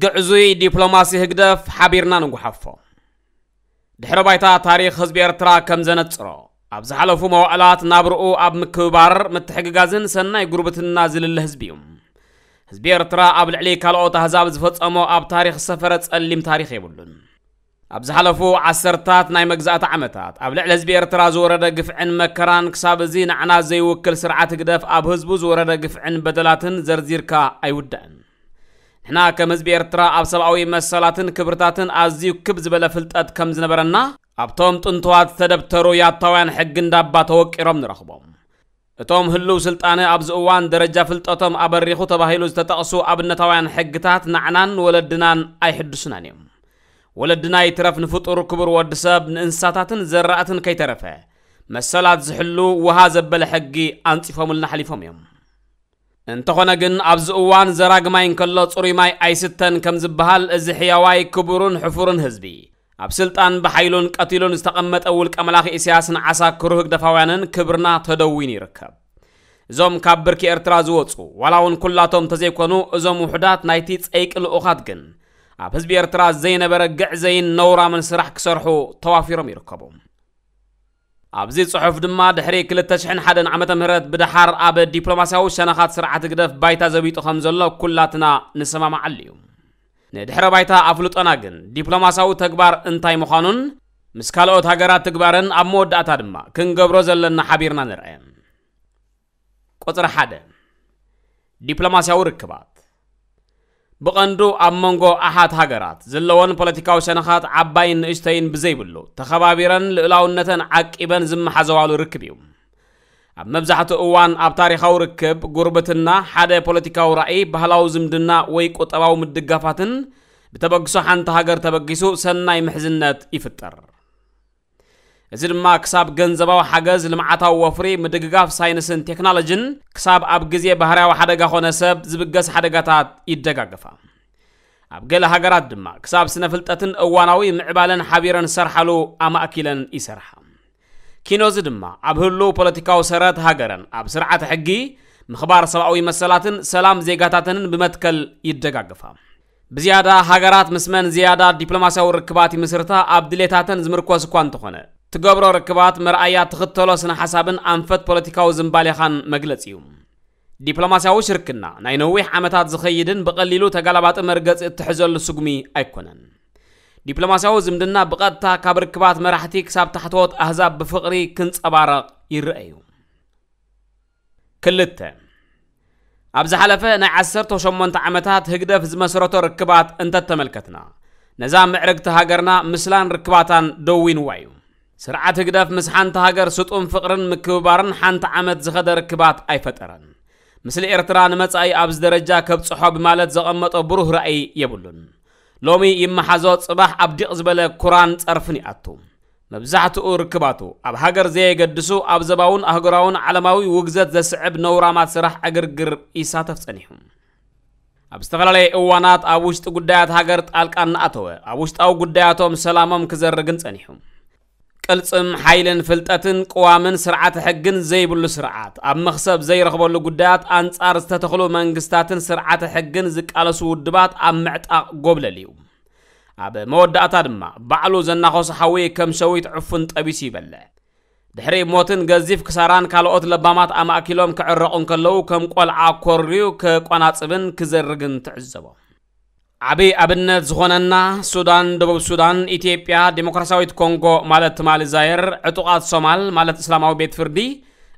ግዕዙይ ዲፕሎማሲ ህግደፍ ሓቢርና ንጉሓፎ። ድሕረ ባይታ ታሪኽ ህዝቢ ኤርትራ ከም ዘነጽሮ፣ ኣብ ዝሓለፉ መዋእላት ናብርኡ ኣብ ምክብባር፣ ምትሕግጋዝን ሰናይ ጉርብትና ዝልለ ህዝቢ እዩ። ህዝቢ ኤርትራ ኣብ ልዕሊ ካልኦት ኣህዛብ ዝፈጸሞ ኣብ ታሪኽ ዝሰፈረ ጸሊም ታሪኽ የብሉን። ኣብ ዝሓለፉ ዓሰርታት ናይ መግዛእቲ ዓመታት ኣብ ልዕሊ ህዝቢ ኤርትራ ዝወረደ ግፍዕን መከራን፣ ክሳብ እዚ ንዓና ዘይውክል ስርዓት ህግደፍ ኣብ ህዝቡ ዝወረደ ግፍዕን በደላትን ዘርዚርካ ኣይውዳእን። ንሕና ከም ህዝቢ ኤርትራ ኣብ ሰብኣዊ መሰላትን ክብርታትን ኣዝዩ ክብ ዝበለ ፍልጠት ከም ዝነበረና ኣብቶም ጥንትዋት ዝተደብተሩ ያታውያን ሕጊ እንዳባ ተወቂሮም ንረኽቦም። እቶም ህልው ስልጣነ ኣብዚ እዋን ደረጃ ፍልጠቶም ኣበሪኹ ተባሂሉ ዝተጠቕሱ ኣብነታውያን ሕግታት ንዓናን ወለድናን ኣይሕድሱናን እዮም። ወለድና ይትረፍ ንፍጡር ክቡር ወዲ ሰብ፣ ንእንስሳታትን ዘራእትን ከይተረፈ መሰላት ዝሕሉ ውሃ ዘበለ ሕጊ ኣንጺፎምልና ሓሊፎም እዮም። እንተኾነ ግን ኣብዚ እዋን ዘራግ ማይ እንከሎ ጽሩይ ማይ ኣይስተን ከም ዝበሃል፣ እዚ ሕያዋይ ክቡርን ሕፉርን ህዝቢ ኣብ ስልጣን ብሓይሉን ቀቲሉን ዝተቐመጠ ውልቀ መላኺ ኢሳያስን ዓሳክሩ ህግደፋውያንን ክብርና ተደዊኑ ይርከብ። እዞም ካብ ብርኪ ኤርትራ ዝወጹ፣ ዋላ እውን ኩላቶም ተዘይኮኑ፣ እዞም ውሑዳት ናይቲ ጸይቂ ልኡኻት ግን ኣብ ህዝቢ ኤርትራ ዘይነበረ ግዕዘይን ነውራምን ስራሕ ክሰርሑ ተዋፊሮም ይርከቡ። ኣብዚ ጽሑፍ ድማ ድሕሪ ክልተ ሽሕን ሓደን ዓመተ ምህረት ብድሓር ኣብ ዲፕሎማስያዊ ሸነኻት ስርዓት ህግደፍ ባይታ ዘቢጡ ከም ዘሎ ኩላትና ንሰማማዓሉ እዩ። ንድሕረ ባይታ ኣፍልጦና ግን ዲፕሎማስያዊ ተግባር እንታይ ምዃኑን ምስ ካልኦት ሃገራት ትግባረን ኣብ መወዳእታ ድማ ክንገብሮ ዘለና ሓቢርና ንርአ። ቁጽሪ ሓደ፣ ዲፕሎማስያዊ ርክባት። ብቐንዱ ኣብ መንጎ ኣሓት ሃገራት ዘለወን ፖለቲካዊ ሸነኻት ዓባይን ንእሽተይን ብዘይብሉ፣ ተኸባቢረን ልኡላውነተን ዓቂበን ዝመሓዘዋሉ ርክብ እዩ። ኣብ መብዛሕትኡ እዋን ኣብ ታሪኻዊ ርክብ፣ ጉርብትና፣ ሓደ ፖለቲካዊ ራእይ፣ ባህላዊ ዝምድና ወይ ቁጠባዊ ምድጋፋትን ብተበግሶ ሓንቲ ሃገር ተበጊሱ ሰናይ ምሕዝነት ይፍጠር። እዚ ድማ ክሳብ ገንዘባዊ ሓገዝ፣ ልምዓታዊ ወፍሪ፣ ምድግጋፍ ሳይንስን ቴክኖሎጅን፣ ክሳብ ኣብ ግዜ ባህርያዊ ሓደጋ ኾነ ሰብ ዝብገስ ሓደጋታት ይደጋገፋ። ኣብ ገለ ሃገራት ድማ ክሳብ ስነ ፍልጠትን እዋናዊ ምዕባለን ሓቢረን ዝሰርሓሉ ኣማእኪለን ይሰርሓ። ኪኖዚ ድማ ኣብ ህሉው ፖለቲካዊ ሰረት ሃገረን ኣብ ስርዓተ ሕጊ፣ ምኽባር ሰብኣዊ መሰላትን ሰላም ዜጋታተንን ብመትከል ይደጋገፋ። ብዝያዳ ሃገራት ምስ መን ዝያዳ ዲፕሎማስያዊ ርክባት ይምስርታ ኣብ ድሌታተን ዝምርኮስ እኳ እንተኾነ፣ ትገብሮ ርክባት መርኣያ ትኽተሎ ስነ ሓሳብን ኣንፈት ፖለቲካዊ ዝንባሌኻን መግለጺ እዩ። ዲፕሎማስያዊ ሽርክና ናይ ነዊሕ ዓመታት ዝኸይድን ብቐሊሉ ተጋላባጢ መርገጺ እትሕዘሉ ስጉሚ ኣይኮነን። ዲፕሎማስያዊ ዝምድና ብቐጥታ ካብ ርክባት መራሕቲ ክሳብ ታሕተዎት ኣህዛብ ብፍቕሪ ክንጸባረቕ ይረአ እዩ። ክልተ፣ ኣብ ዝሓለፈ ናይ ዓሰርተ ሸሞንተ ዓመታት ህግደፍ ዝመስረቶ ርክባት እንተተመልከትና፣ ነዛ ምዕርግቲ ሃገርና ምስላን ርክባታን ደዊንዋ እዩ። ስርዓት ህግደፍ ምስ ሓንቲ ሃገር ስጡም ፍቕርን ምክብባርን ሓንቲ ዓመት ዝኸደ ርክባት ኣይፈጠረን። ምስሊ ኤርትራ ንመጻኢ ኣብዚ ደረጃ ከብጽሖ ብማለት ዘቐመጦ ብሩህ ራእይ የብሉን። ሎሚ ይመሓዞ፣ ጽባሕ ኣብ ዲቕ ዝበለ ኩራን ጸርፍን ይኣቱ። መብዛሕትኡ ርክባቱ ኣብ ሃገር ዘየገድሱ፣ ኣብ ዘባውን ኣህጉራውን ዓለማዊ ውግዘት ዘስዕብ ነውራማት ስራሕ ዕግርግር ይሳተፍ ጸኒሑ። ኣብ ዝተፈላለየ እዋናት ኣብ ውሽጢ ጉዳያት ሃገር ጣልቃ እናኣተወ፣ ኣብ ውሽጣዊ ጉዳያቶም ሰላሞም ክዘርግን ጸኒሑ። ቅልጽም ሓይልን ፍልጠትን ቅዋምን ስርዓተ ሕግን ዘይብሉ ስርዓት፣ ኣብ መኽሰብ ዘይረኽበሉ ጉዳያት ኣንጻር ዝተተኽሉ መንግስታትን ስርዓተ ሕግን ዝቃለሱ ውድባት ኣብ ምዕጣቕ ጎብለል እዩ። ኣብ መወዳእታ ድማ ባዕሉ ዘናኸሶ ሓዊ ከም ሸዊት ዕፉን ጠቢሱ ይበልዕ። ድሕሪ ሞትን ገዚፍ ክሳራን ካልኦት ለባማት ኣማእኪሎም ክዕረቑ እንከለዉ ከም ቆልዓ ኮርዩ ከቋናጽብን ክዘርግን ትዕዘቦ። ዓቢ ኣብነት ዝኾነና ሱዳን፣ ደቡብ ሱዳን፣ ኢትዮጵያ፣ ዲሞክራሲያዊት ኮንጎ ማለት ትማሊ ዛየር፣ ዕጡቓት ሶማል ማለት እስላማዊ ቤት ፍርዲ፣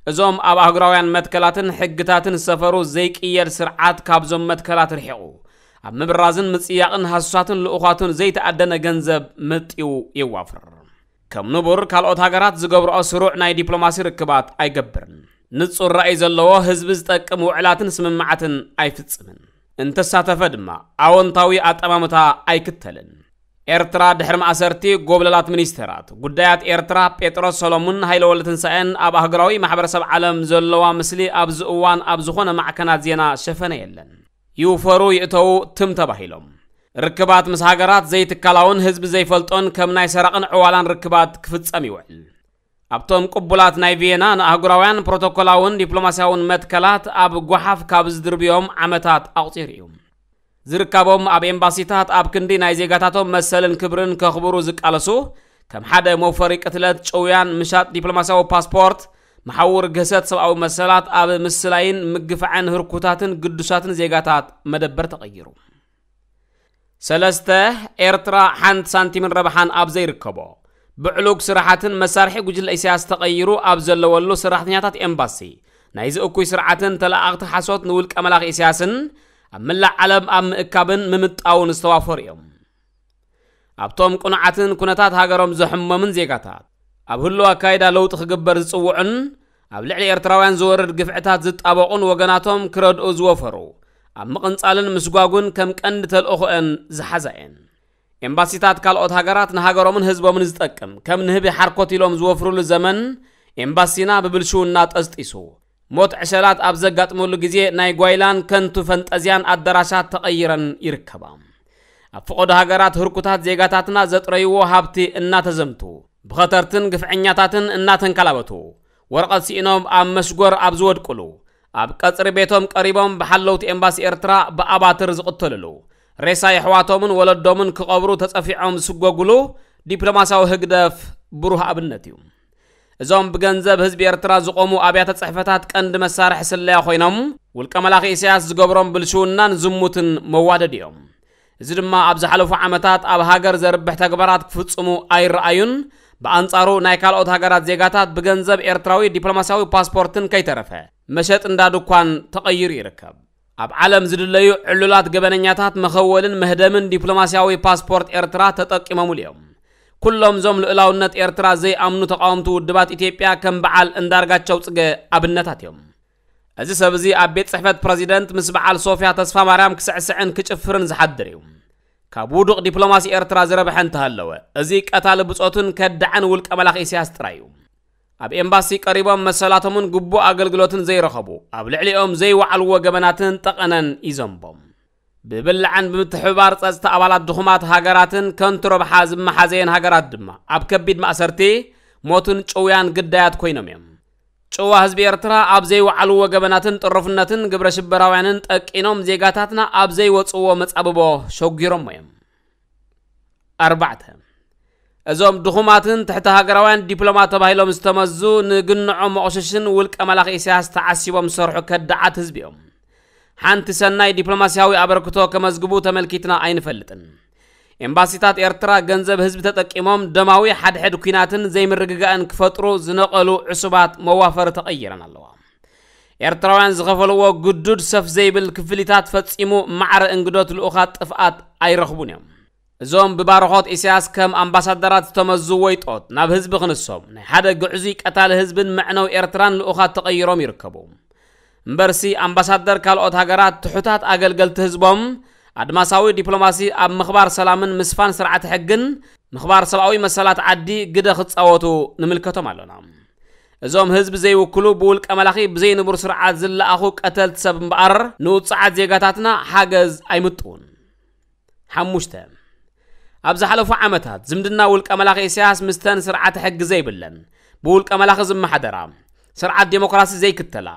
እዞም ኣብ ኣህጉራውያን መትከላትን ሕግታትን ዝሰፈሩ ዘይቅየድ ስርዓት ካብዞም መትከላት ርሒቑ፣ ኣብ ምብራዝን ምጽያቕን ሃሱሳትን ልኡኻቱን ዘይተኣደነ ገንዘብ መጢው የዋፍር። ከም ንቡር ካልኦት ሃገራት ዝገብርኦ ስሩዕ ናይ ዲፕሎማሲ ርክባት ኣይገብርን። ንጹር ራእይ ዘለዎ ህዝቢ ዝጠቅም ውዕላትን ስምምዓትን ኣይፍጽምን። እንተሳተፈ ድማ ኣወንታዊ ኣጠማምታ ኣይክተልን። ኤርትራ ድሕሪ ማእሰርቲ ጎብለላት ሚኒስተራት ጉዳያት ኤርትራ ጴጥሮስ ሰሎሙን ሃይለወልደ ትንሳኤን ኣብ ኣህጉራዊ ማሕበረሰብ ዓለም ዘለዋ ምስሊ ኣብዚ እዋን ኣብ ዝኾነ ማዕከናት ዜና ሸፈነ የለን። ይውፈሩ ይእተዉ ትም ተባሂሎም። ርክባት ምስ ሃገራት ዘይትካላውን ህዝቢ ዘይፈልጦን ከም ናይ ሰራቕን ዕዋላን ርክባት ክፍጸም ይውዕል። ኣብቶም ቅቡላት ናይ ቪየና ንኣህጉራውያን ፕሮቶኮላውን ዲፕሎማስያውን መትከላት ኣብ ጓሓፍ ካብ ዝድርብዮም ዓመታት ኣቑጺሩ እዩ። ዝርካቦም ኣብ ኤምባሲታት ኣብ ክንዲ ናይ ዜጋታቶም መሰልን ክብርን ከኽብሩ ዝቃለሱ፣ ከም ሓደ መውፈሪ ቅትለት፣ ጭውያን ምሻጥ ዲፕሎማሲያዊ ፓስፖርት፣ መሓውር ግህሰት ሰብኣዊ መሰላት ኣብ ምስላይን ምግፋዕን ህርኩታትን ግዱሳትን ዜጋታት መደበር ተቐይሩ። ሰለስተ፣ ኤርትራ ሓንቲ ሳንቲምን ረብሓን ኣብ ዘይርከቦ፣ ብዕሉግ ስራሓትን መሳርሒ ጉጅለ ኢሳያስ ተቐይሩ ኣብ ዘለወሉ ሰራሕተኛታት ኤምባሲ ናይዚ እኩይ ስርዓትን ተለኣኣኽቲ ሓሶት ንውልቀ መላኺ ኢሳያስን ኣብ መላእ ዓለም ኣብ ምእካብን ምምጣውን ዝተዋፈሩ እዮም። ኣብቶም ቅኑዓትን ኩነታት ሃገሮም ዘሕመምን ዜጋታት ኣብ ህልው ኣካይዳ ለውጢ ክግበር ዝጽውዑን ኣብ ልዕሊ ኤርትራውያን ዝወርድ ግፍዕታት ዝጣበቑን ወገናቶም ክረድኡ ዝወፈሩ፣ ኣብ ምቕንጻልን ምስጓጉን ከም ቀንዲ ተልእኾአን ዝሓዛ እየን። ኤምባሲታት ካልኦት ሃገራት ንሃገሮምን ህዝቦምን ዝጠቅም ከም ንህቢ ሓርኮት ኢሎም ዝወፍሩሉ ዘመን፣ ኤምባሲና ብብልሽውና ጠስጢሱ፣ ሞት ዕሸላት ኣብ ዘጋጥመሉ ግዜ ናይ ጓይላን ከንቱ ፈንጠዝያን ኣዳራሻት ተቐይረን ይርከባ። ኣብ ፈቐዶ ሃገራት ህርኩታት ዜጋታትና ዘጥረይዎ ሃብቲ እናተዘምቱ፣ ብኸተርትን ግፍዐኛታትን እናተንከላበቱ፣ ወረቐት ስኢኖም ኣብ መስጎር ኣብ ዝወድቁሉ፣ ኣብ ቀጽሪ ቤቶም ቀሪቦም ብሓለውቲ ኤምባሲ ኤርትራ ብኣባትር ዝቕተልሉ፣ ሬሳ የሕዋቶምን ወለዶምን ክቐብሩ ተጸፊዖም ዝስጎጉሉ ዲፕሎማሲያዊ ህግደፍ ብሩህ ኣብነት እዩ። እዞም ብገንዘብ ህዝቢ ኤርትራ ዝቖሙ ኣብያተ ጽሕፈታት ቀንዲ መሳርሒ ስለያ ኮይኖም፣ ውልቀ መላኺ ኢሳያስ ዝገብሮም ብልሽውናን ዝሙትን መዋደድ እዮም። እዚ ድማ ኣብ ዝሓለፉ ዓመታት ኣብ ሃገር ዘርብሕ ተግባራት ክፍጽሙ ኣይረኣዩን። ብኣንጻሩ ናይ ካልኦት ሃገራት ዜጋታት ብገንዘብ ኤርትራዊ ዲፕሎማሲያዊ ፓስፖርትን ከይተረፈ መሸጥ እንዳ ድኳን ተቐይሩ ይርከብ። ኣብ ዓለም ዝድለዩ ዕሉላት ገበነኛታት መኸወልን መህደምን ዲፕሎማሲያዊ ፓስፖርት ኤርትራ ተጠቂሞምሉ እዮም። ኩሎም እዞም ልኡላውነት ኤርትራ ዘይኣምኑ ተቓወምቲ ውድባት ኢትዮጵያ ከም በዓል እንዳርጋቸው ጽገ ኣብነታት እዮም። እዚ ሰብ እዚ ኣብ ቤት ጽሕፈት ፕረዚደንት ምስ በዓል ሶፊያ ተስፋ ማርያም ክስዕስዕን ክጭፍርን ዝሓድር እዩ። ካብ ውዱቕ ዲፕሎማሲ ኤርትራ ዝረብሐ እንተሃለወ፣ እዚ ቀታሊ ብጾቱን ከዳዕን ውልቀ መላኺ ኢሳያስ ጥራይ እዩ። ኣብ ኤምባሲ ቀሪቦም መሰላቶምን ግቡእ ኣገልግሎትን ዘይረኸቡ፣ ኣብ ልዕሊኦም ዘይወዓልዎ ገበናትን ጠቐነን ይዘንቦም። ብብላዕን ብምትሕብባር ጸጥታ ኣባላት ድኹማት ሃገራትን ከንቱ ረብሓ ዝመሓዘየን ሃገራት ድማ ኣብ ከቢድ ማእሰርቲ፣ ሞትን ጭውያን ግዳያት ኮይኖም እዮም። ጭዋ ህዝቢ ኤርትራ ኣብ ዘይወዓልዎ ገበናትን ጥሩፍነትን ግብረ ሽበራውያንን ጠቂኖም ዜጋታትና ኣብ ዘይወጽዎ መጻብቦ ሸጒሮሞ እዮም። ኣርባዕተ፣ እዞም ድኹማትን ትሕቲ ሃገራውያን ዲፕሎማት ተባሂሎም ዝተመዙ ንግንዖም መቑሸሽን ውልቀ መላኺ ኢሳያስ ተዓሲቦም ዝሰርሑ ከዳዓት ህዝቢ እዮም። ሓንቲ ሰናይ ዲፕሎማሲያዊ ኣበርክቶ ከመዝግቡ ተመልኪትና ኣይንፈልጥን። ኤምባሲታት ኤርትራ ገንዘብ ህዝቢ ተጠቂሞም ደማዊ ሓድሕድ ኲናትን ዘይምርግጋእን ክፈጥሩ ዝነቐሉ ዕሱባት መዋፈሪ ተቐይረን ኣለዋ። ኤርትራውያን ዝኸፈልዎ ግዱድ ሰፍ ዘይብል ክፍሊታት ፈጺሙ ማዕረ እንግዶት ልኡኻት ጥፍኣት ኣይረኽቡን እዮም። እዞም ብባርኾት ኢሳያስ ከም ኣምባሳደራት ዝተመዙ ወይጦት ናብ ህዝቢ ክንሶም ናይ ሓደ ግዕዙይ ቀታሊ ህዝብን መዕነው ኤርትራን ልኡኻት ተቐይሮም ይርከቡ። እምበርሲ ኣምባሳደር ካልኦት ሃገራት ትሑታት ኣገልገልቲ ህዝቦም ኣድማሳዊ ዲፕሎማሲ ኣብ ምኽባር ሰላምን ምስፋን ስርዓተ ሕግን ምኽባር ሰብኣዊ መሰላት ዓዲ ግደ ክጻወቱ ንምልከቶም ኣሎና። እዞም ህዝቢ ዘይውክሉ ብውልቀ መላኺ ብዘይንቡር ስርዓት ዝለኣኹ ቀተልቲ ሰብ እምበኣር ንውጹዓት ዜጋታትና ሓገዝ ኣይምጥውን። ሓሙሽተ፣ ኣብ ዝሓለፉ ዓመታት ዝምድና ውልቀ መላኺ ኢሳያስ ምስተን ስርዓተ ሕጊ ዘይብለን ብውልቀ መላኺ ዝመሓደራ ስርዓት ዴሞክራሲ ዘይክተላ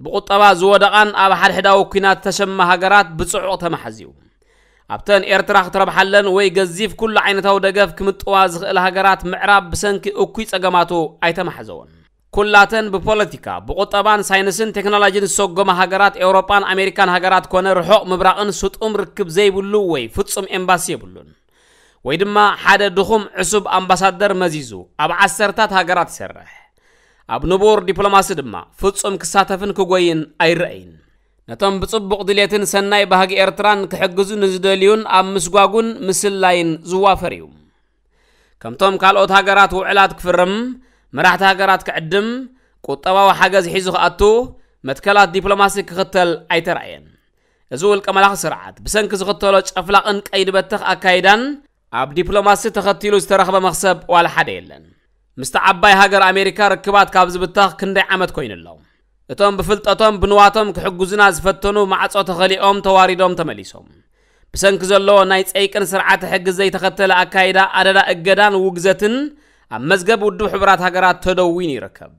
ብቁጠባ ዝወደቓን ኣብ ሓድሕዳዊ ኲናት ተሸማ ሃገራት ብጽዑቕ ተመሓዝዩ። ኣብተን ኤርትራ ክትረብሓለን ወይ ገዚፍ ኩሉ ዓይነታዊ ደገፍ ክምጥዋ ዝኽእል ሃገራት ምዕራብ ብሰንኪ እኩይ ጸገማቱ ኣይተማሕዘወን። ኩላተን ብፖለቲካ፣ ብቁጠባን ሳይንስን ቴክኖሎጂን ዝሰጎማ ሃገራት ኤውሮጳን ኣሜሪካን ሃገራት ኮነ ርሑቕ ምብራቕን ስጡም ርክብ ዘይብሉ ወይ ፍጹም ኤምባሲ የብሉን። ወይ ድማ ሓደ ድኹም ዕሱብ ኣምባሳደር መዚዙ ኣብ ዓሰርታት ሃገራት ይሰርሕ። ኣብ ንቡር ዲፕሎማሲ ድማ ፍጹም ክሳተፍን ክጎይን ኣይረኣይን። ነቶም ብጽቡቕ ድሌትን ሰናይ ባህጊ ኤርትራን ክሕግዙ ንዝደልዩን ኣብ ምስጓጉን ምስላይን ዝዋፈር እዩ። ከምቶም ካልኦት ሃገራት ውዕላት ክፍርም፣ መራሕቲ ሃገራት ክዕድም፣ ቁጠባዊ ሓገዝ ሒዙ ክኣቱ፣ መትከላት ዲፕሎማሲ ክኽተል ኣይተራእየን። እዚ ውልቀ መላኺ ስርዓት ብሰንኪ ዝኽተሎ ጨፍላቕን ቀይዲ በተኽ ኣካይዳን ኣብ ዲፕሎማሲ ተኸቲሉ ዝተረኽበ መኽሰብ ዋላ ሓደ የለን። ምስቲ ዓባይ ሃገር ኣሜሪካ ርክባት ካብ ዝብተኽ ክንደይ ዓመት ኮይኑ ኣሎ። እቶም ብፍልጠቶም ብንዋቶም ክሕግዙና ዝፈተኑ ማዕጾ ተኸሊኦም ተዋሪዶም ተመሊሶም። ብሰንኪ ዘለዎ ናይ ጸይቅን ስርዓተ ሕጊ ዘይተኸተለ ኣካይዳ ኣደዳ እገዳን ውግዘትን ኣብ መዝገብ ውድብ ሕቡራት ሃገራት ተደዊኑ ይርከብ።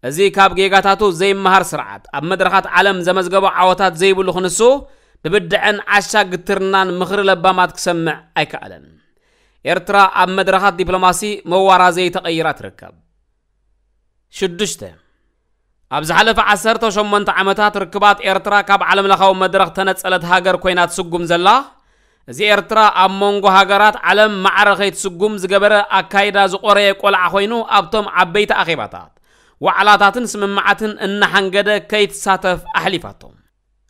እዚ ካብ ጌጋታቱ ዘይመሃር ስርዓት ኣብ መድረኻት ዓለም ዘመዝገቦ ዓወታት ዘይብሉ ክንሱ ብብድዐን ዓሻ ግትርናን ምኽሪ ለባማት ክሰምዕ ኣይከኣለን። ኤርትራ ኣብ መድረኻት ዲፕሎማሲ መዋራዘይ ተቐይራ ትርከብ። ሽዱሽተ፣ ኣብ ዝሓለፈ ዓሰርተ ሸሞንተ ዓመታት ርክባት ኤርትራ ካብ ዓለምለኻዊ መድረኽ ተነጸለት ሃገር ኮይና ትስጉም ዘላ፣ እዚ ኤርትራ ኣብ መንጎ ሃገራት ዓለም ማዕረ ከይትስጉም ዝገበረ ኣካይዳ ዝቖረየ ቆልዓ ኮይኑ ኣብቶም ዓበይቲ ኣኼባታት፣ ዋዕላታትን ስምምዓትን እናሓንገደ ከይትሳተፍ ኣሕሊፋቶ።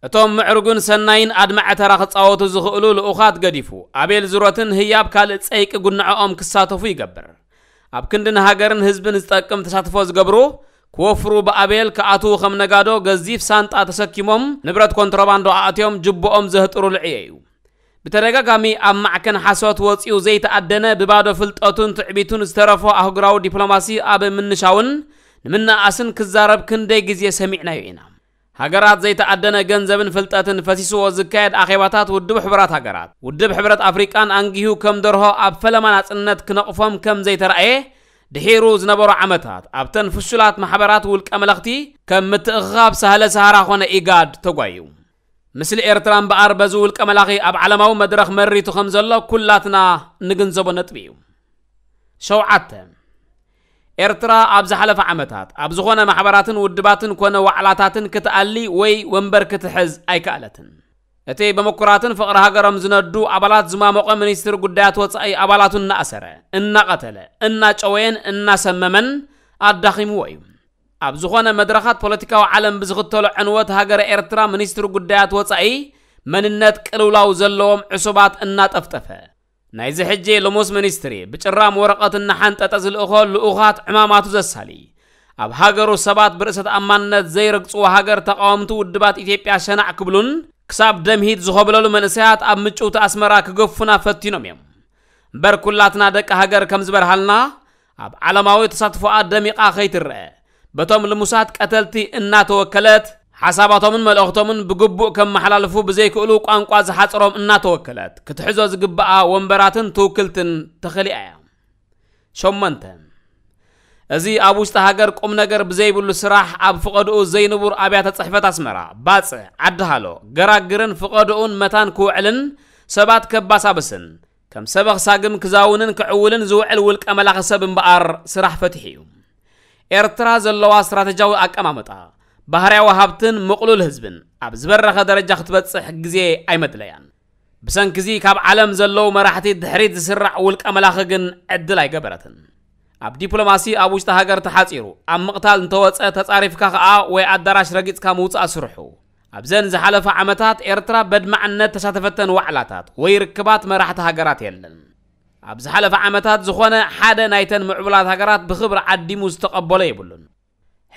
እቶም ምዕሩግን ሰናይን ኣድማዒ ተራ ክጻወቱ ዝኽእሉ ልኡኻት ገዲፉ፣ ኣቤል ዙረትን ህያብ ካልእ ጸይቂ ጉንዐኦም ክሳተፉ ይገብር። ኣብ ክንዲ ንሃገርን ህዝብን ዝጠቅም ተሳትፎ ዝገብሩ፣ ክወፍሩ ብኣቤል ክኣትዉ ከም ነጋዶ ገዚፍ ሳንጣ ተሰኪሞም ንብረት ኮንትሮባንዶ ኣእትዮም ጅቦኦም ዘህጥሩ ልዕዮ እዩ። ብተደጋጋሚ ኣብ ማዕከን ሓሶት ወጺኡ ዘይተኣደነ ብባዶ ፍልጠቱን ትዕቢቱን ዝተረፎ ኣህጉራዊ ዲፕሎማሲ ኣብ ምንሻውን ንምንኣስን ክዛረብ ክንደይ ግዜ ሰሚዕናዮ ኢና። ሃገራት ዘይተኣደነ ገንዘብን ፍልጠትን ፈሲስዎ ዝካየድ ኣኼባታት ውድብ ሕቡራት ሃገራት፣ ውድብ ሕብረት ኣፍሪቃን ኣንጊሁ ከም ደርሆ ኣብ ፈለማ ናጽነት ክነቕፎም ከም ዘይተራእየ ድሒሩ ዝነበሩ ዓመታት ኣብተን ፍሹላት ማሕበራት ውልቀ መለኽቲ ከም ምትእኽኻብ ሳህለ ሰሃራ ኾነ ኢጋድ ተጓዩ። ምስሊ ኤርትራ እምበኣር በዚ ውልቀ መላኺ ኣብ ዓለማዊ መድረኽ መሪቱ ከም ዘሎ ኩላትና ንግንዘቦ ነጥቢ እዩ። ሸውዓተ፣ ኤርትራ ኣብ ዝሓለፈ ዓመታት ኣብ ዝኾነ ማሕበራትን ውድባትን ኮነ ዋዕላታትን ክትኣሊ ወይ ወንበር ክትሕዝ ኣይከኣለትን። እቲ ብምኩራትን ፍቕሪ ሃገሮም ዝነዱ ኣባላት ዝማሞቐ ሚኒስትሪ ጉዳያት ወጻኢ ኣባላቱ እናኣሰረ፣ እናቐተለ፣ እናጨወየን እናሰመመን ኣዳኺምዎ እዩ። ኣብ ዝኾነ መድረኻት ፖለቲካዊ ዓለም ብዝኽተሎ ዕንወት ሃገረ ኤርትራ ሚኒስትሪ ጉዳያት ወጻኢ መንነት ቅልውላው ዘለዎም ዕሱባት እናጠፍጠፈ፣ ናይዚ ሕጂ ልሙስ ሚኒስትሪ ብጭራም ወረቐት እናሓንጠጠ ዝልእኾ ልኡኻት ዕማማቱ ዘሳሊ፣ ኣብ ሃገሩ ሰባት ብርእሰ ተኣማንነት ዘይረግጽዎ ሃገር ተቓወምቲ ውድባት ኢትዮጵያ ሸናዕ ክብሉን ክሳብ ደምሂት ዝኾብለሉ መንእሰያት ኣብ ምጭውቲ ኣስመራ ክገፉና ፈቲኖም እዮም። እምበር ኩላትና ደቂ ሃገር ከም ዝበርሃልና ኣብ ዓለማዊ ተሳትፎኣ ደሚቓ ከይትረአ፣ በቶም ልሙሳት ቀተልቲ እናተወከለት፣ ሓሳባቶምን መልእኽቶምን ብግቡእ ከመሓላልፉ ብዘይክእሉ ቋንቋ ዝሓጽሮም እናተወከለት፣ ክትሕዞ ዝግብኣ ወንበራትን ትውክልትን ተኸሊኣ እያ። ሸሞንተ፣ እዚ ኣብ ውሽጢ ሃገር ቁም ነገር ብዘይብሉ ስራሕ ኣብ ፍቐድኡ ዘይንቡር ኣብያተ ጽሕፈት ኣስመራ፣ ባጽዕ፣ ዓዲ ሃሎ፣ ገራግርን ፍቐድኡን መታን ክውዕልን ሰባት ከባሳብስን ከም ሰበኽ ሳግም ክዛውንን ክዕውልን ዝውዕል ውልቀ መላኺ ሰብ እምበኣር ስራሕ ፈቲሑ እዩ። ኤርትራ ዘለዋ ስትራተጂያዊ ኣቀማምጣ፣ ባህርያዊ ሃብትን ምቕሉል ህዝብን ኣብ ዝበረኸ ደረጃ ክትበጽሕ ግዜ ኣይመድለያን። ብሰንኪዚ ካብ ዓለም ዘለዉ መራሕቲ ድሕሪት ዝስራዕ ውልቀ መላኺ ግን ዕድል ኣይገበረትን። ኣብ ዲፕሎማሲ ኣብ ውሽጢ ሃገር ተሓጺሩ፣ ኣብ ምቕታል እንተወጸ ተጻሪፍካ ከኣ ወይ ኣዳራሽ ረጊጽካ ምውጻእ ስርሑ። ኣብዘን ዝሓለፋ ዓመታት ኤርትራ በድማዕነት ተሳተፈተን ዋዕላታት ወይ ርክባት መራሕቲ ሃገራት የለን። ኣብ ዝሓለፈ ዓመታት ዝኾነ ሓደ ናይተን ምዕቡላት ሃገራት ብኽብሪ ዓዲሙ ዝተቐበሎ የብሉን።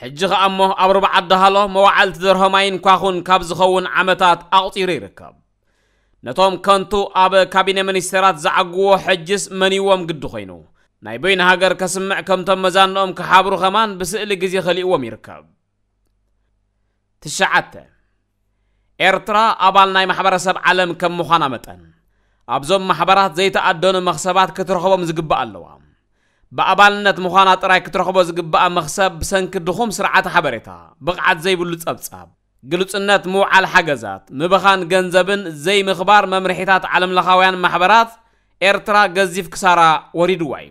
ሕጂ ኸኣ እሞ ኣብ ሩባ ዓዲ ሃሎ መዋዕልቲ ደርሆ ማይን ኳኹን ካብ ዝኸውን ዓመታት ኣቑጺሩ ይርከብ። ነቶም ከንቱ ኣብ ካቢነ ሚኒስተራት ዝዓግዎ ሕጅስ መንዎም ግዲ ኮይኑ፣ ናይ በይኑ ሃገር ከስምዕ ከምቶም መዛንኦም ክሓብሩ ኸማን ብስእሊ ግዜ ከሊእዎም ይርከብ። ትሽዓተ፣ ኤርትራ ኣባል ናይ ማሕበረሰብ ዓለም ከም ምዃና መጠን፣ ኣብዞም ማሕበራት ዘይተኣደኑ መኽሰባት ክትረኽቦም ዝግባእ ኣለዋ። ብኣባልነት ምዃና ጥራይ ክትረኽቦ ዝግባኣ መኽሰብ ብሰንኪ ድኹም ስርዓተ ሓበሬታ፣ ብቕዓት ዘይብሉ ጸብጻብ፣ ግሉጽነት ምውዓል ሓገዛት፣ ምብኻን ገንዘብን ዘይምኽባር መምርሒታት ዓለምለኻውያን ማሕበራት ኤርትራ ገዚፍ ክሳራ ወሪድዋ እዩ።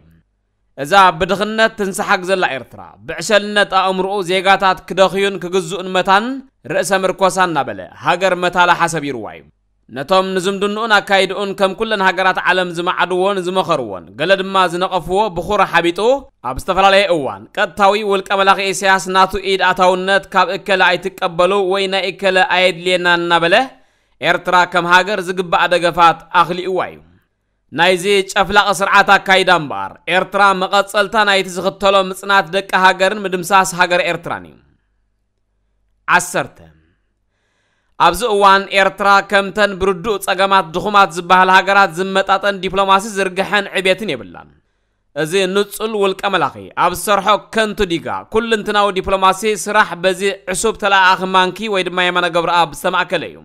እዛ ብድኽነት ትንሰሓግ ዘላ ኤርትራ፣ ብዕሸልነት ኣእምሮኡ ዜጋታት ክደኽዩን ክግዝኡን መታን ርእሰ ምርኮሳ እናበለ ሃገር መታላ ሓሰብ ይርዋ እዩ። ነቶም ንዝምድንኡን ኣካይድኡን ከም ኩለን ሃገራት ዓለም ዝመዓድዎን ዝመኸርዎን፣ ገለ ድማ ዝነቐፍዎ ብኹራ ሓቢጡ፣ ኣብ ዝተፈላለየ እዋን ቀጥታዊ ውልቀ መላኺ ኢሳያስ ናቱ ኢድ ኣታውነት ካብ እከለ ኣይትቀበሉ ወይ ናይ እከለ ኣየድልየናን እናበለ ኤርትራ ከም ሃገር ዝግባኣ ደገፋት ኣኽሊእዋ እዩ። ናይዚ ጨፍላቒ ስርዓት ኣካይዳ እምበኣር፣ ኤርትራ መቐጸልታ ናይቲ ዝኽተሎ ምጽናት ደቂ ሃገርን ምድምሳስ ሃገር ኤርትራን እዩ። ዓሰርተ፣ ኣብዚ እዋን ኤርትራ ከምተን ብርዱእ ጸገማት ድኹማት ዝበሃላ ሃገራት ዝመጣጠን ዲፕሎማሲ ዝርግሐን ዕቤትን የብላን። እዚ ንጹል ውልቀ መላኺ ኣብ ዝሰርሖ ከንቱ ዲጋ፣ ኩልንትናዊ ዲፕሎማሲ ስራሕ በዚ ዕሱብ ተለኣኣኺ ማንኪ ወይ ድማ የማነ ገብረኣብ ዝተማእከለ እዩ።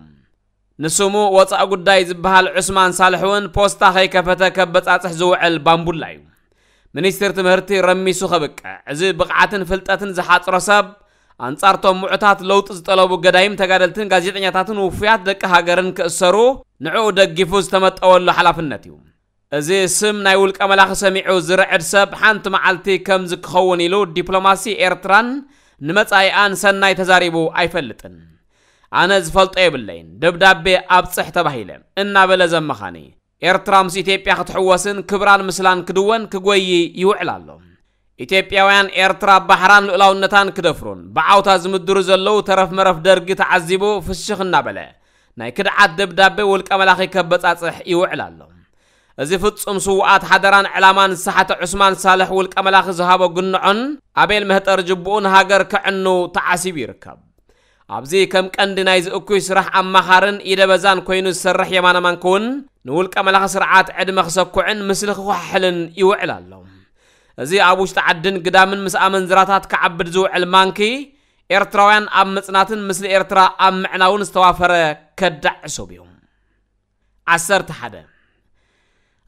ንስሙ ወጻኢ ጉዳይ ዝበሃል ዑስማን ሳልሕ እውን ፖስታ ከይከፈተ ከበጻጽሕ ዝውዕል ባምቡላ እዩ። ሚኒስትር ትምህርቲ ረሚሱ ከብቅዕ፣ እዚ ብቕዓትን ፍልጠትን ዝሓጽሮ ሰብ ኣንጻርቶም ምዑታት ለውጢ ዝጠለቡ ገዳይም ተጋደልትን ጋዜጠኛታትን ውፉያት ደቂ ሃገርን ክእሰሩ ንዕኡ ደጊፉ ዝተመጠወሉ ሓላፍነት እዩ። እዚ ስም ናይ ውልቀ መላኺ ሰሚዑ ዝርዕድ ሰብ ሓንቲ መዓልቲ ከምዚ ክኸውን ኢሉ ዲፕሎማሲ ኤርትራን ንመጻኢኣን ሰናይ ተዛሪቡ ኣይፈልጥን። ኣነ ዝፈልጦ የብለይን፣ ደብዳቤ ኣብጽሕ ተባሂለ እናበለ ዘመኻኒ። ኤርትራ ምስ ኢትዮጵያ ክትሕወስን ክብራን ምስላን ክድወን ክጎይ ይውዕል ኣሎ። ኢትዮጵያውያን ኤርትራ ባሕራን ልኡላውነታን ክደፍሩን ብዓውታ ዝምድሩ ዘለዉ ተረፍ መረፍ ደርጊ ተዓዚቡ ፍሽኽ እናበለ ናይ ክድዓት ደብዳቤ ውልቀ መላኺ ከበጻጽሕ ይውዕል ኣሎ። እዚ ፍጹም ስውኣት ሓደራን ዕላማን ዝሰሓተ ዑስማን ሳልሕ ውልቀ መላኺ ዝሃቦ ግንዖን ኣቤል መህጠር ጅቡኡ ንሃገር ከዕኑ ተዓሲቡ ይርከብ። ኣብዚ ከም ቀንዲ ናይዚ እኩይ ስራሕ ኣማኻርን ኢደበዛን ኮይኑ ዝሰርሕ የማነ ማንኪ እውን ንውልቀ መላኺ ስርዓት ዕድመ ክሰኩዕን ምስሊ ክኳሕሕልን ይውዕል ኣሎ። እዚ ኣብ ውሽጢ ዓድን ግዳምን ምስ ኣመንዝራታት ክዓብድ ዝውዕል ማንኪ ኤርትራውያን ኣብ ምጽናትን ምስሊ ኤርትራ ኣብ ምዕናውን ዝተዋፈረ ከዳዕ ዕሱብ እዩ። ዓሰርተ ሓደ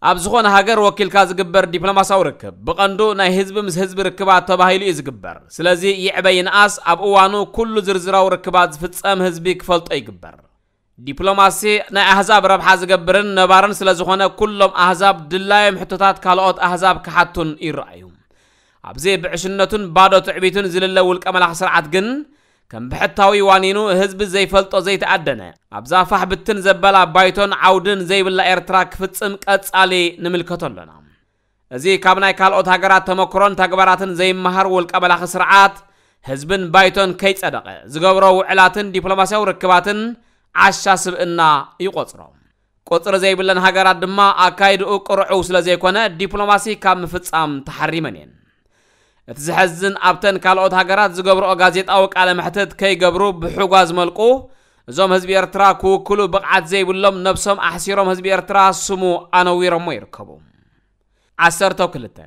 ኣብ ዝኾነ ሃገር ወኪልካ ዝግበር ዲፕሎማሲያዊ ርክብ ብቐንዱ ናይ ህዝቢ ምስ ህዝቢ ርክባት ተባሂሉ እዩ ዝግበር። ስለዚ ይዕበ ይንኣስ ኣብ እዋኑ ኩሉ ዝርዝራዊ ርክባት ዝፍጸም ህዝቢ ክፈልጦ ይግበር። ዲፕሎማሲ ናይ ኣህዛብ ረብሓ ዝገብርን ነባርን ስለ ዝኾነ ኩሎም ኣህዛብ ድላዮም ሕቶታት ካልኦት ኣህዛብ ክሓቱን ይረኣዩ። ኣብዚ ብዕሽነቱን ባዶ ትዕቢቱን ዝልለ ውልቀ መላኺ ስርዓት ግን ከም ብሕታዊ ዋኒኑ ህዝቢ ዘይፈልጦ ዘይተኣደነ ኣብዛ ፋሕ ብትን ዘበላ ባይቶን ዓውድን ዘይብላ ኤርትራ ክፍጽም ቀጻሊ ንምልከቶ ኣሎና። እዚ ካብ ናይ ካልኦት ሃገራት ተመክሮን ተግባራትን ዘይመሃር ውልቀ መላኺ ስርዓት ህዝብን ባይቶን ከይጸደቐ ዝገብሮ ውዕላትን ዲፕሎማሲያዊ ርክባትን ዓሻ ስብእና ይቆጽሮ። ቁጽሪ ዘይብለን ሃገራት ድማ ኣካይድኡ ቅርዑው ስለ ዘይኮነ ዲፕሎማሲ ካብ ምፍጻም ተሓሪመን እየን። እቲ ዘሐዝን ኣብተን ካልኦት ሃገራት ዝገብርኦ ጋዜጣዊ ቃለ መሕትት ከይገብሩ ብሕጓ ዝመልቁ እዞም ህዝቢ ኤርትራ ክውክሉ ብቕዓት ዘይብሎም ነብሶም ኣሕሲሮም ህዝቢ ኤርትራ ስሙ ኣነዊሮሞ ይርከቡ። ዓሰርተ ክልተ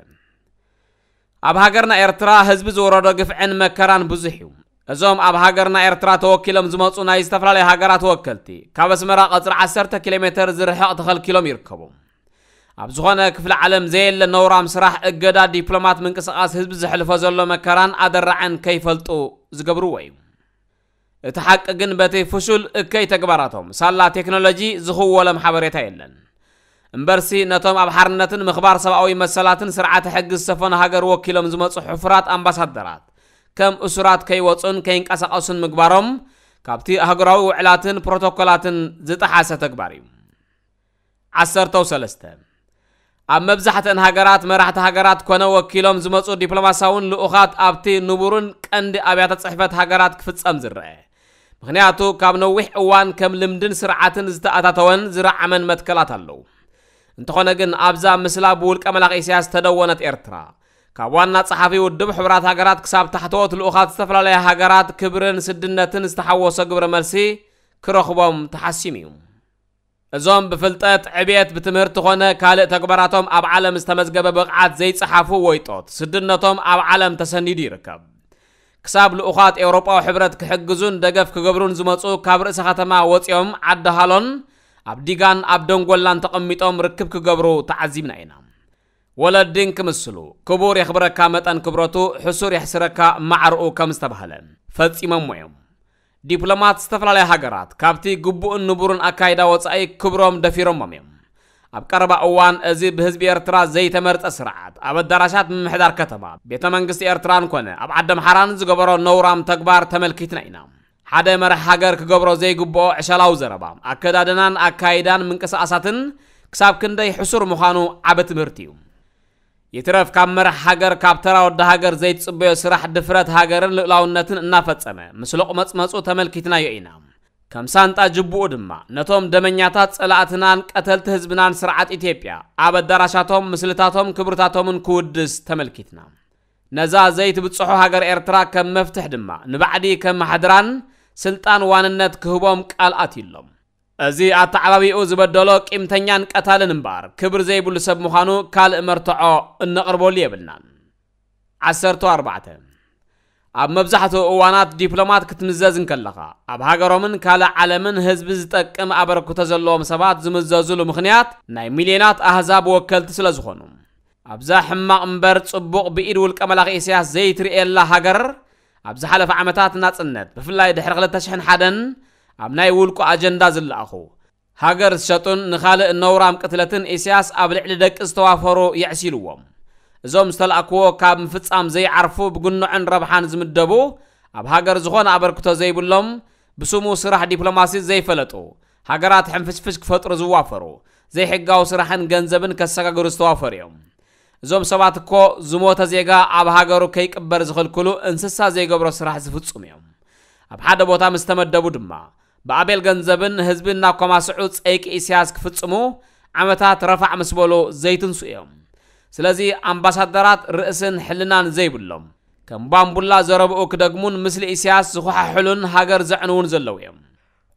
ኣብ ሃገርና ኤርትራ ህዝቢ ዝወረዶ ግፍዕን መከራን ብዙሕ እዩ። እዞም ኣብ ሃገርና ኤርትራ ተወኪሎም ዝመጹ ናይ ዝተፈላለዩ ሃገራት ወከልቲ ካብ ኣስመራ ቀጽሪ ዓሰርተ ኪሎ ሜተር ዝርሕቕ ተኸልኪሎም ይርከቡ። ኣብ ዝኾነ ክፍለ ዓለም ዘየለ ነውራም ስራሕ እገዳ ዲፕሎማት ምንቅስቓስ ህዝቢ ዘሕልፎ ዘሎ መከራን ኣደራዕን ከይፈልጡ ዝገብርዎ እዩ። እቲ ሓቂ ግን በቲ ፍሹል እከይ ተግባራቶም ሳላ ቴክኖሎጂ ዝኽወሎም ሓበሬታ የለን። እምበርሲ ነቶም ኣብ ሓርነትን ምኽባር ሰብኣዊ መሰላትን ስርዓተ ሕጊ ዝሰፈኖ ሃገር ወኪሎም ዝመጹ ሕፉራት ኣምባሳደራት ከም እሱራት ከይወጹን ከይንቀሳቐሱን ምግባሮም ካብቲ ኣህጉራዊ ውዕላትን ፕሮቶኮላትን ዝጠሓሰ ተግባር እዩ። ዓሰርተው ሰለስተ ኣብ መብዛሕትአን ሃገራት መራሕቲ ሃገራት ኮነ ወኪሎም ዝመጹ ዲፕሎማሲያውን ልኡኻት ኣብቲ ንቡርን ቀንዲ ኣብያተ ጽሕፈት ሃገራት ክፍጸም ዝረአ። ምኽንያቱ ካብ ነዊሕ እዋን ከም ልምድን ስርዓትን ዝተኣታተወን ዝረዓመን መትከላት ኣለዉ። እንተኾነ ግን ኣብዛ ምስላ ብውልቀ መላኺ ኢሳያስ ዝተደወነት ኤርትራ ካብ ዋና ጸሓፊ ውድብ ሕቡራት ሃገራት ክሳብ ታሕተዎት ልኡኻት ዝተፈላለያ ሃገራት ክብርን ስድነትን ዝተሓወሶ ግብረ መልሲ ክረኽቦም ተሓሲሙ እዩ። እዞም ብፍልጠት ዕብየት ብትምህርቲ ኾነ ካልእ ተግባራቶም ኣብ ዓለም ዝተመዝገበ ብቕዓት ዘይጸሓፉ ወይጦት ስድነቶም ኣብ ዓለም ተሰኒዱ ይርከብ። ክሳብ ልኡኻት ኤውሮጳዊ ሕብረት ክሕግዙን ደገፍ ክገብሩን ዝመጹ ካብ ርእሰ ከተማ ወጺኦም ዓዲ ሃሎን ኣብ ዲጋን ኣብ ደንጎላን ተቐሚጦም ርክብ ክገብሩ ተዓዚብና ኢና። ወለድን ክምስሉ ክቡር የኽብረካ መጠን ክብረቱ ሕሱር የሕስረካ ማዕርኡ ከም ዝተባህለ ፈጺሞሞ እዮም። ዲፕሎማት ዝተፈላለያ ሃገራት ካብቲ ግቡእን ንቡርን ኣካይዳ ወጻኢ ክብሮም ደፊሮሞም እዮም። ኣብ ቀረባ እዋን እዚ ብህዝቢ ኤርትራ ዘይተመርጸ ስርዓት ኣብ ኣዳራሻት ምምሕዳር ከተማ ቤተ መንግስቲ ኤርትራን ኮነ ኣብ ዓዲ ኣምሓራን ዝገበሮ ነውራም ተግባር ተመልኪትና ኢና። ሓደ መራሕ ሃገር ክገብሮ ዘይግብኦ ዕሸላዊ ዘረባ ኣከዳድናን ኣካይዳን ምንቅስቓሳትን ክሳብ ክንደይ ሕሱር ምዃኑ ዓቢ ትምህርቲ እዩ። ይትረፍ ካብ መራሕ ሃገር ካብ ተራ ወዲ ሃገር ዘይትጽበዮ ስራሕ ድፍረት ሃገርን ልእላውነትን እናፈጸመ ምስ ሎቕመጽመጹ ተመልኪትናዮ ኢና። ከም ሳንጣ ጅቡኡ ድማ ነቶም ደመኛታት ጸላእትናን ቀተልቲ ህዝብናን ስርዓት ኢትዮጵያ ኣብ ኣዳራሻቶም ምስልታቶም ክብርታቶምን ክውድስ ተመልኪትና። ነዛ ዘይትብጽሖ ሃገር ኤርትራ ከም መፍትሕ ድማ ንባዕዲ ከም ማሕድራን ስልጣን ዋንነት ክህቦም ቃል ኣትዩሎም። እዚ ኣተዓባቢኡ ዝበደሎ ቂምተኛን ቀታልን እምበኣር ክብር ዘይብሉ ሰብ ምዃኑ ካልእ መርትዖ እነቕርበሉ የብልናን። ዓሰርተ ኣርባዕተ ኣብ መብዛሕትኡ እዋናት ዲፕሎማት ክትምዘዝ እንከለኻ ኣብ ሃገሮምን ካልእ ዓለምን ህዝቢ ዝጠቅም ኣበርክቶ ዘለዎም ሰባት ዝምዘዙሉ ምኽንያት ናይ ሚልዮናት ኣህዛብ ወከልቲ ስለ ዝኾኑ ኣብዛ ሕማቕ እምበር ጽቡቕ ብኢድ ውልቀ መላኺ ኢሳያስ ዘይትርእየላ ሃገር ኣብ ዝሓለፈ ዓመታት ናጽነት፣ ብፍላይ ድሕሪ ክልተ ሽሕን ሓደን ኣብ ናይ ውልቁ ኣጀንዳ ዝለኣኹ፣ ሃገር ዝሸጡን ንኻልእ ነውራም ቅትለትን ኢሳያስ ኣብ ልዕሊ ደቂ ዝተዋፈሩ የዕሲልዎም። እዞም ዝተላእክዎ ካብ ምፍጻም ዘይዓርፉ፣ ብግንዖን ረብሓን ዝምደቡ፣ ኣብ ሃገር ዝኾነ ኣበርክቶ ዘይብሎም፣ ብስሙ ስራሕ ዲፕሎማሲ ዘይፈለጡ፣ ሃገራት ሕንፍሽፍሽ ክፈጥሩ ዝዋፈሩ፣ ዘይሕጋዊ ስራሕን ገንዘብን ከሰጋግሩ ዝተዋፈሩ እዮም። እዞም ሰባት እኮ ዝሞተ ዜጋ ኣብ ሃገሩ ከይቅበር ዝኽልክሉ እንስሳ ዘይገብሮ ስራሕ ዝፍጽሙ እዮም። ኣብ ሓደ ቦታ ምስ ተመደቡ ድማ ብኣቤል ገንዘብን ህዝቢ እናኮማስዑ ጸይቂ ኢሳያስ ክፍጽሙ ዓመታት ረፋዕ ምስ በሉ ዘይትንሱ እዮም። ስለዚ ኣምባሳደራት ርእስን ሕልናን ዘይብሎም፣ ከም ባምቡላ ዘረብኡ ክደግሙን ምስሊ ኢሳያስ ዝኹሓሕሉን ሃገር ዘዕንዉን ዘለዉ እዮም።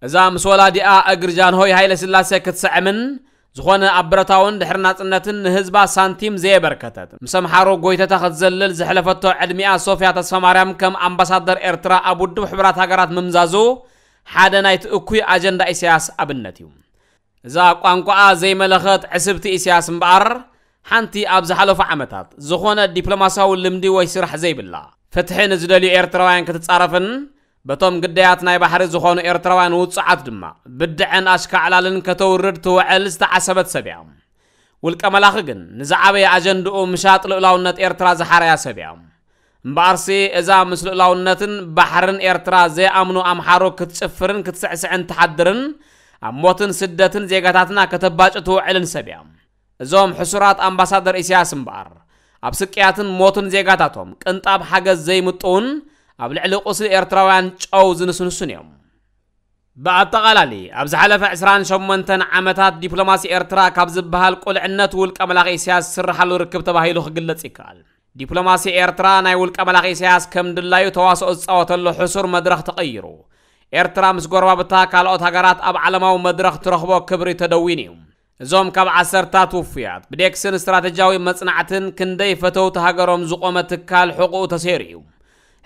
እዛ ምስ ወላዲኣ እግሪ ጃንሆይ ሃይለ ስላሴ ክትስዕምን፣ ዝኾነ ኣብ ብረታውን ድሕሪ ናጽነትን ንህዝባ ሳንቲም ዘየበርከተት፣ ምስ ኣምሓሩ ጎይተታ ክትዘልል ዘሕለፈቶ ዕድሚኣ ሶፍያ ተስፋማርያም ከም ኣምባሳደር ኤርትራ ኣብ ውድብ ሕቡራት ሃገራት ምምዛዙ ሓደ ናይቲ እኩይ ኣጀንዳ ኢሳያስ ኣብነት እዩ። እዛ ቋንቋኣ ዘይመለኸት ዕስብቲ ኢሳያስ እምበኣር፣ ሓንቲ ኣብ ዝሓለፉ ዓመታት ዝኾነ ዲፕሎማስያዊ ልምዲ ወይ ስራሕ ዘይብላ፣ ፍትሒ ንዝደልዩ ኤርትራውያን ክትጻረፍን፣ በቶም ግዳያት ናይ ባሕሪ ዝኾኑ ኤርትራውያን ውጹዓት ድማ ብድዐን ኣሽካዕላልን ከተውርድ ትውዕል ዝተዓሰበት ሰብ እያ። ውልቀ መላኺ ግን ንዝዓበየ ኣጀንድኡ ምሻጥ ልኡላውነት ኤርትራ ዝሓረያ ሰብ እያ። እምበኣርሲ እዛ ምስ ልኡላውነትን ባሕርን ኤርትራ ዘይኣምኑ ኣምሓሩ ክትጭፍርን ክትስዕስዕን ትሓድርን፣ ኣብ ሞትን ስደትን ዜጋታትና ከተባጭ ትውዕልን ሰብ እያ። እዞም ሕሱራት ኣምባሳደር ኢሳያስ እምበኣር፣ ኣብ ስቅያትን ሞትን ዜጋታቶም ቅንጣብ ሓገዝ ዘይምጥውን፣ ኣብ ልዕሊ ቁስሊ ኤርትራውያን ጨው ዝንስንሱን እዮም። ብኣጠቓላሊ፣ ኣብ ዝሓለፈ ዕስራን ሸሞንተን ዓመታት ዲፕሎማሲ ኤርትራ ካብ ዝበሃል ቁልዕነት ውልቀ መላኺ ኢሳያስ ዝስርሓሉ ርክብ ተባሂሉ ክግለጽ ይከኣል። ዲፕሎማሲ ኤርትራ ናይ ውልቀ መላኺ ኢሳያስ ከም ድላዩ ተዋስኦ ዝጻወተሉ ሕሱር መድረኽ ተቐይሩ፣ ኤርትራ ምስ ጎረባብታ ካልኦት ሃገራት ኣብ ዓለማዊ መድረኽ ትረኽቦ ክብሪ ተደዊኑ እዩ። እዞም ካብ ዓሰርታት ውፉያት ብዴክስን ስትራተጂያዊ መጽናዕትን ክንደይ ፈተውቲ ሃገሮም ዝቖመ ትካል ሕቑኡ ተሰይሩ እዩ።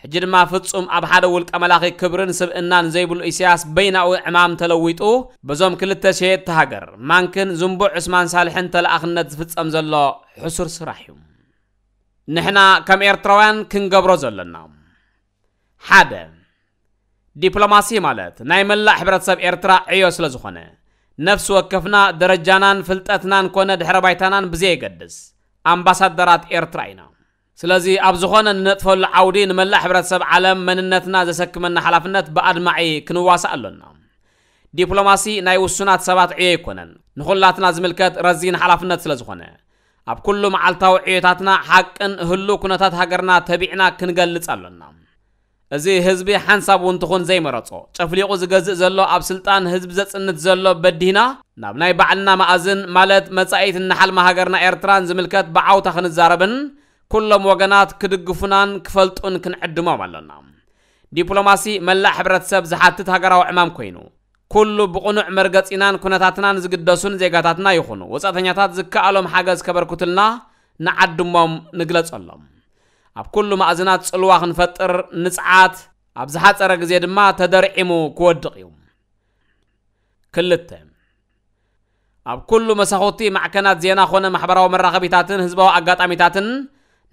ሕጂ ድማ ፍጹም ኣብ ሓደ ውልቀ መላኺ ክብርን ስብእናን ዘይብሉ ኢሳያስ በይናዊ ዕማም ተለዊጡ፣ በዞም ክልተ ሸየጥቲ ሃገር ማንክን ዝንቡዕ ዑስማን ሳልሕን ተለኣኽነት ዝፍጸም ዘሎ ሕሱር ስራሕ እዩ። ንሕና ከም ኤርትራውያን ክንገብሮ ዘለና፣ ሓደ፣ ዲፕሎማሲ ማለት ናይ መላእ ሕብረተሰብ ኤርትራ ዕዮ ስለ ዝኾነ፣ ነፍሲ ወከፍና ደረጃናን ፍልጠትናን ኮነ ድሕረ ባይታናን ብዘየገድስ ኣምባሳደራት ኤርትራ ኢና። ስለዚ ኣብ ዝኾነ ንነጥፈሉ ዓውዲ ንመላእ ሕብረተሰብ ዓለም መንነትና ዘሰክመና ሓላፍነት ብኣድማዒ ክንዋሳእ ኣሎና። ዲፕሎማሲ ናይ ውሱናት ሰባት ዕዮ ኣይኮነን፣ ንኹላትና ዝምልከት ረዚን ሓላፍነት ስለ ዝኾነ፣ ኣብ ኩሉ መዓልታዊ ዕዮታትና ሓቅን ህሉው ኩነታት ሃገርና ተቢዕና ክንገልጽ ኣሎና። እዚ ህዝቢ ሓንሳብ እውን ትኹን ዘይመረጾ፣ ጨፍሊቑ ዝገዝእ ዘሎ፣ ኣብ ስልጣን ህዝቢ ዘጽንት ዘሎ በዲህና፣ ናብ ናይ ባዕልና መኣዝን፣ ማለት መጻኢት እናሓልማ ሃገርና ኤርትራን ዝምልከት ብዓውታ ክንዛረብን፣ ኩሎም ወገናት ክድግፉናን ክፈልጡን ክንዕድሞም ኣሎና። ዲፕሎማሲ መላእ ሕብረተሰብ ዝሓትት ሃገራዊ ዕማም ኮይኑ፣ ኩሉ ብቕኑዕ መርገጺናን ኩነታትናን ዝግደሱን ዜጋታትና ይኹኑ ወጻእተኛታት ዝከኣሎም ሓገዝ ከበርክቱልና ንዓድሞም፣ ንግለጸሎም። ኣብ ኩሉ ማእዝናት ጽልዋ ክንፈጥር ንጽዓት፣ ኣብ ዝሓጸረ ግዜ ድማ ተደርዒሙ ክወድቕ እዩ። ክልተ፣ ኣብ ኩሉ መሳኹቲ ማዕከናት ዜና ኾነ ማሕበራዊ መራኸቢታትን ህዝባዊ ኣጋጣሚታትን፣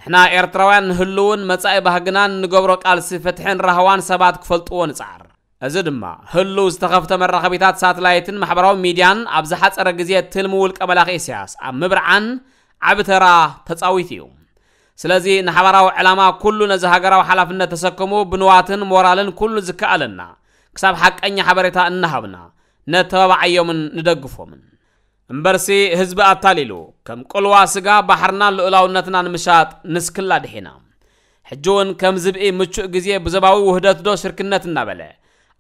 ንሕና ኤርትራውያን ንህልውን መጻኢ ባህግናን ንገብሮ ቃልሲ ፍትሕን ራህዋን ሰባት ክፈልጥዎ ንጽዓር። እዚ ድማ ህሉው ዝተኸፍተ መራኸቢታት ሳትላይትን ማሕበራዊ ሚድያን ኣብ ዝሓጸረ ግዜ ትልሚ ውልቀ መላኺ ኢሳያስ ኣብ ምብርዓን ዓቢ ተራ ተጻዊቱ እዩ። ስለዚ ንሓባራዊ ዕላማ ኩሉ ነዚ ሃገራዊ ሓላፍነት ተሰክሙ ብንዋትን ሞራልን ኩሉ ዝከኣለና ክሳብ ሓቀኛ ሓበሬታ እናሃብና ነተባብዓዮምን ንደግፎምን። እምበርሲ ህዝቢ ኣታሊሉ ከም ቅልዋ ስጋ ባሕርናን ልኡላውነትና ንምሻጥ ንስክላ ድሒና። ሕጂ እውን ከም ዝብኢ ምቹእ ግዜ ብዞባዊ ውህደት ዶ ሽርክነት እናበለ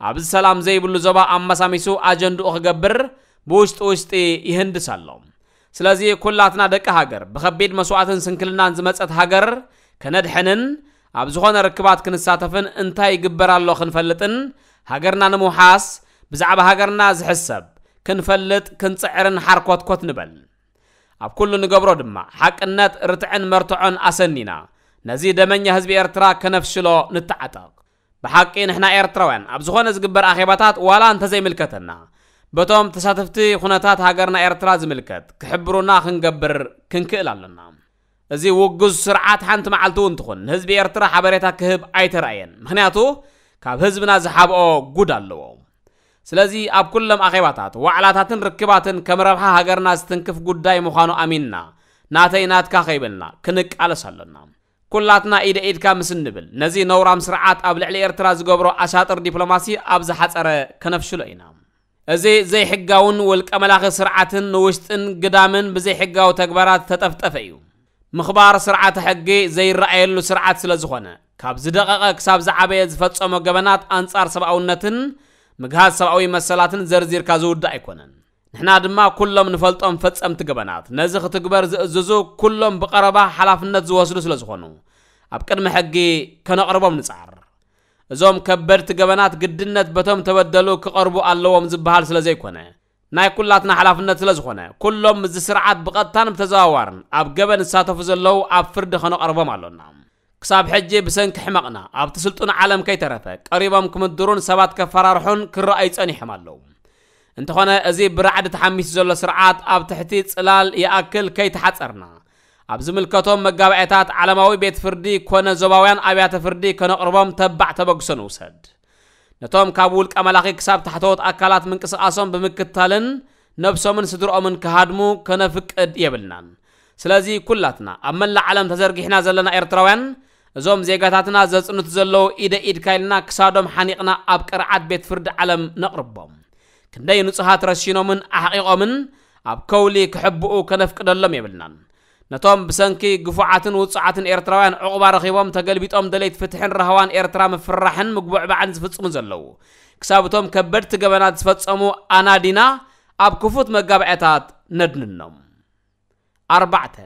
ኣብዚ ሰላም ዘይብሉ ዞባ ኣመሳሚሱ ኣጀንድኡ ክገብር ብውሽጢ ውሽጢ ይህንድስ ኣሎ። ስለዚ ኩላትና ደቂ ሃገር ብኸቢድ መስዋእትን ስንክልናን ዝመጸት ሃገር ከነድሕንን ኣብ ዝኾነ ርክባት ክንሳተፍን እንታይ ይግበር ኣሎ ክንፈልጥን ሃገርና ንምውሓስ ብዛዕባ ሃገርና ዝሕሰብ ክንፈልጥ ክንጽዕርን ሓርኮትኮት ንበል። ኣብ ኩሉ ንገብሮ ድማ ሓቅነት፣ ርትዕን መርትዖን ኣሰኒና ነዚ ደመኛ ህዝቢ ኤርትራ ከነፍሽሎ ንተዓጠቕ። ብሓቂ ንሕና ኤርትራውያን ኣብ ዝኾነ ዝግበር ኣኼባታት ዋላ እንተዘይምልከተና በቶም ተሳተፍቲ ኩነታት ሃገርና ኤርትራ ዝምልከት ክሕብሩና ክንገብር ክንክእል ኣሎና። እዚ ውጉዝ ስርዓት ሓንቲ መዓልቲ እውን ትኹን ንህዝቢ ኤርትራ ሓበሬታ ክህብ ኣይተራእየን። ምኽንያቱ ካብ ህዝብና ዝሓብኦ ጉድ ኣለዎ። ስለዚ ኣብ ኩሎም ኣኼባታት፣ ዋዕላታትን ርክባትን ከም ረብሓ ሃገርና ዝትንክፍ ጉዳይ ምዃኑ ኣሚንና፣ ናተይ ናትካ ከይበልና ክንቃለስ ኣሎና። ኩላትና ኢደ ኢድካ ምስ እንብል፣ ነዚ ነውራም ስርዓት ኣብ ልዕሊ ኤርትራ ዝገብሮ ኣሻጥር ዲፕሎማሲ ኣብ ዝሓጸረ ከነፍሽሎ ኢና። እዚ ዘይሕጋውን ውልቀ መላኺ ስርዓትን ንውሽጥን ግዳምን ብዘይሕጋዊ ተግባራት ዝተጠፍጠፈ እዩ። ምኽባር ስርዓተ ሕጊ ዘይረኣየሉ ስርዓት ስለ ዝኾነ፣ ካብ ዝደቐቐ ክሳብ ዝዓበየ ዝፈጸሞ ገበናት ኣንጻር ሰብኣውነትን ምግሃስ ሰብኣዊ መሰላትን ዘርዚርካ ዝውዳእ ኣይኮነን። ንሕና ድማ ኩሎም ንፈልጦም ፈጸምቲ ገበናት፣ ነዚ ክትግበር ዝእዝዙ ኩሎም ብቐረባ ሓላፍነት ዝወስዱ ስለ ዝኾኑ፣ ኣብ ቅድሚ ሕጊ ከነቕርቦም ንጽዓር። እዞም ከበድቲ ገበናት ግድነት በቶም ተበደሉ ክቐርቡ ኣለዎም ዝበሃል ስለ ዘይኮነ፣ ናይ ኩላትና ሓላፍነት ስለ ዝኾነ፣ ኩሎም ምስዚ ስርዓት ብቐጥታን ብተዘዋዋርን ኣብ ገበን ዝሳተፉ ዘለዉ ኣብ ፍርዲ ከነቐርቦም ኣሎና። ክሳብ ሕጂ ብሰንኪ ሕመቕና ኣብቲ ስልጡን ዓለም ከይተረፈ ቀሪቦም ክምድሩን ሰባት ከፈራርሑን ክረኣዩ ጸኒሖም ኣለዉ። እንተኾነ እዚ ብራዕዲ ተሓሚሱ ዘሎ ስርዓት ኣብ ትሕቲ ጽላል ይኣክል ከይተሓጸርና፣ ኣብ ዝምልከቶም መጋባእያታት ዓለማዊ ቤት ፍርዲ ኮነ ዞባውያን ኣብያተ ፍርዲ ከነቕርቦም ተባዕ ተበግሶ ንውሰድ። ነቶም ካብ ውልቀ መላኺ ክሳብ ታሕተዎት ኣካላት ምንቅስቓሶም ብምክታልን ነብሶምን ስድርኦምን ክሃድሙ ከነፍቅድ የብልናን። ስለዚ ኩላትና ኣብ መላእ ዓለም ተዘርጊሕና ዘለና ኤርትራውያን እዞም ዜጋታትና ዘጽንቱ ዘለዉ ኢደ ኢድካ ኢልና ክሳዶም ሓኒቕና ኣብ ቅርዓት ቤት ፍርዲ ዓለም ነቕርቦም። ክንደይ ንጹሃት ረሺኖምን ኣሕቒቖምን ኣብ ከውሊ ክሕብኡ ከነፍቅደሎም የብልናን። ነቶም ብሰንኪ ግፉዓትን ውጹዓትን ኤርትራውያን ዕቑባ ረኺቦም ተገልቢጦም ደለይቲ ፍትሕን ራህዋን ኤርትራ ምፍርራሕን ምጉብዕባዕን ዝፍጽሙ ዘለዉ፣ ክሳብ እቶም ከበድቲ ገበናት ዝፈጸሙ ኣናዲና ኣብ ክፉት መጋባእያታት ነድንኖም። ኣርባዕተ፣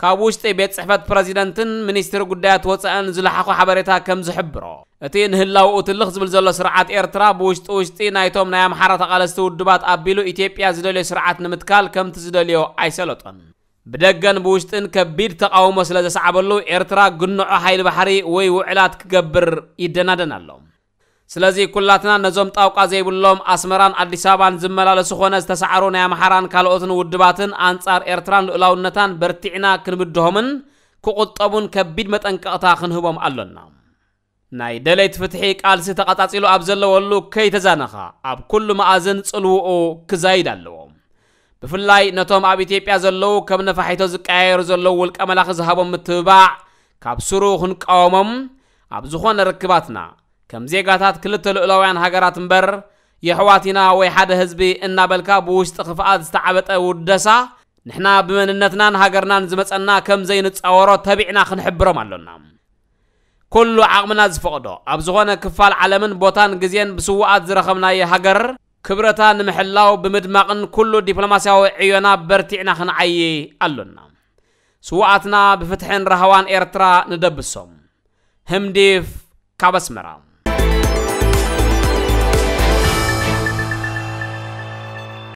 ካብ ውሽጢ ቤት ጽሕፈት ፕረዚደንትን ሚኒስትሪ ጉዳያት ወጻእን ዝለሓኾ ሓበሬታ ከም ዝሕብሮ፣ እቲ ንህላውኡ ትልኽ ዝብል ዘሎ ስርዓት ኤርትራ ብውሽጢ ውሽጢ ናይቶም ናይ ኣምሓራ ተቓለስቲ ውድባት ኣቢሉ ኢትዮጵያ ዝደልዮ ስርዓት ንምትካል ከምቲ ዝደልዮ ኣይሰለጦን። ብደገን ብውሽጥን ከቢድ ተቓውሞ ስለ ዘስዓበሉ ኤርትራ ግንዖ ሓይሊ ባሕሪ ወይ ውዕላት ክገብር ይደናደን ኣሎ። ስለዚ ኩላትና ነዞም ጣውቃ ዘይብሎም ኣስመራን ኣዲስ ኣበባን ዝመላለሱ ኾነ ዝተሳዕሩ ናይ ኣምሓራን ካልኦትን ውድባትን ኣንጻር ኤርትራን ልኡላውነታን በርቲዕና ክንብድሆምን ክቑጠቡን ከቢድ መጠንቀቕታ ክንህቦም ኣሎና። ናይ ደለይቲ ፍትሒ ቃልሲ ተቐጻጺሉ ኣብ ዘለወሉ ከይተዛነኻ ኣብ ኩሉ መኣዝን ጽልውኡ ክዛይድ ኣለዎ። ብፍላይ ነቶም ኣብ ኢትዮጵያ ዘለዉ ከም ነፋሒቶ ዝቀያየሩ ዘለዉ ውልቀ መላኺ ዝሃቦም ምትብባዕ ካብ ስሩ ክንቃወሞም፣ ኣብ ዝኾነ ርክባትና ከም ዜጋታት ክልተ ልኡላውያን ሃገራት እምበር የሕዋት ኢና ወይ ሓደ ህዝቢ እናበልካ ብውሽጢ ክፍኣት ዝተዓበጠ ውደሳ ንሕና ብመንነትናን ሃገርናን ዝመጸና ከም ዘይንጻወሮ ተቢዕና ክንሕብሮም ኣሎና። ኩሉ ዓቕምና ዝፈቕዶ ኣብ ዝኾነ ክፋል ዓለምን ቦታን ግዜን ብስውኣት ዝረኸብናዮ ሃገር ክብረታ ንምሕላው ብምድማቕን ኩሉ ዲፕሎማስያዊ ዕዮና በርቲዕና ክንዓዪ ኣሎና። ስውኣትና ብፍትሕን ራህዋን ኤርትራ ንደብሶም። ህምዲፍ ካብ ኣስመራ።